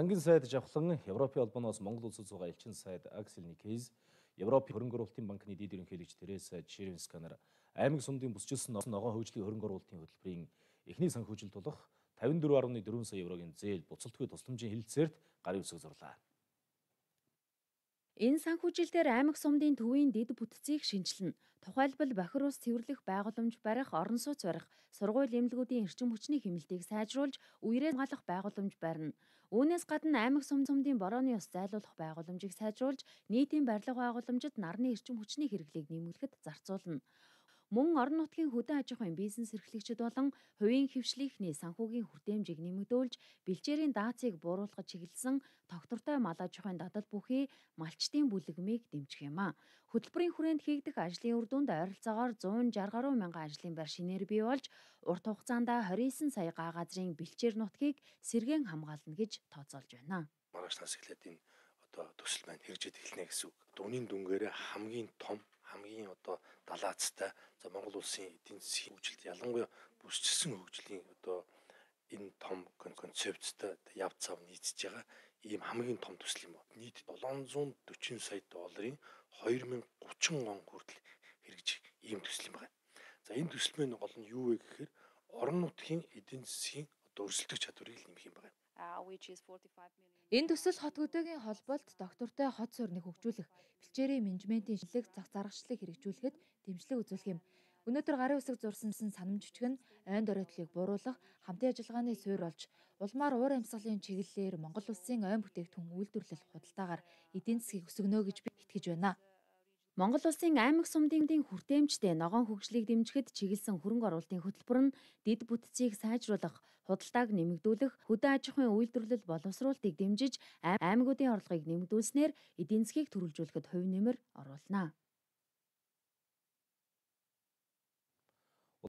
Сангийн сайд жавхлан Европын холбооноос Монгол улсад суугаа элчин сайд Аксель Никейс, Европын хөрөнгө оруулалтын банкны дэд ерөнхийлөгч Тереса Червинсканаар аймаг сумдын бүсчилсэн ногоон хөгжлийн хөрөнгө оруулалтын хөтөлбөрийн эхний санхүүжилт болох 54.4 сая еврогийн зээл буцалтгүй тусламжийн хэлэлцээрт гарын үсэг зурлаа. Энэ санхүүжилтээр аймаг сумдын төвийн дэд бүтцийг шинжилнэ. Тухайлбал бохир ус цэвэрлэх байгууламж барих, орон сууц барих, сургууль эмнэлгүүдийн эрчим хүчний хэмнэлтийг сайжруулж, үерээ хамгаалах байгууламж барина. Үүнээс гадна аймаг сумдын борооны ус зайлуулах байгууламжийг сайжруулж, нийтийн барилга байгууламжид нарны эрчим хүчний хэрэглийг нэмэгдэхэд зарцуулна. Мөн орон нутгийн хөдөө аж ахуйн бизнес эрхлэгчид болон хувийн хөвшлийнхний санхүүгийн хүртээмжийг нэмэгдүүлж, бэлчээрийн даацыг бууруулахад чиглэсэн тогтвортой мал аж ахуйн дадал бүхий малчтын бүлэгмийг дэмжих юм а. Хөтөлбөрийн хүрээнд хийгдэх ажлын үр дүнд ойролцоогоор 160 гаруй мянган ажлын байр шинээр бий болж, урт хугацаанд 29 сая га газрын бэлчээр нутгийг сэргээн хамгаална гэж тооцоолж байна. Маргааш нас эхлээд энэ төсөл маань хэрэгжиж эхэлнэ гэсэн үг. Үнийн дүнгээрээ хамгийн том, хамгийн далаацтай Монгол улсын эдийн засгийн хөгжилд ялангуяа бүсчилсэн хөгжлийн энэ том концепттэй яв цав нийцж байгаа ийм хамгийн том төсөл юм байна. Нийт 740 сая долларын 2030 он хүртэл хэрэгжих ийм төсөл юм байна. За энэ төсөл маань гол нь юу вэ гэхээр орон нутгийн эдийн засгийн өрсөлдөх чадварыг нэмэх юм байна. Энэ төсөл хот хөдөөгийн холбоолт доктортой хот суурныг хөгжүүлэх, бэлчээрийн менежментийн шинжилгээ зах заргачлалыг хэрэгжүүлэхэд дэмжлэг үзүүлэх юм. Өнөөдөр гарын үсэг зурсан санамж жижиг нь ойн доройтлыг бууруулах, хамтын ажиллагааны суурь болж, улмаар уур амьсгалын чиглэлээр Монгол улсын ойн бүтээгдэхүүн үйлдвэрлэл худалдаагаар эдийн засгийг өсгөнө гэж би итгэж байна. Монгол улсын аймаг сумдын хүртээмжтэй ногоон хөгжлийг дэмжихэд чиглэсэн хөрөнгө оруулалтын хөтөлбөр нь дэд бүтцийг сайжруулах, худалдааг нэмэгдүүлэх, хөдөө аж ахуйн үйлдвэрлэл боловсруулалтыг дэмжиж, аймагуудын орлогыг нэмэгдүүлснээр эдийн засгийг төрөлжүүлэхэд хувь нэмэр оруулна.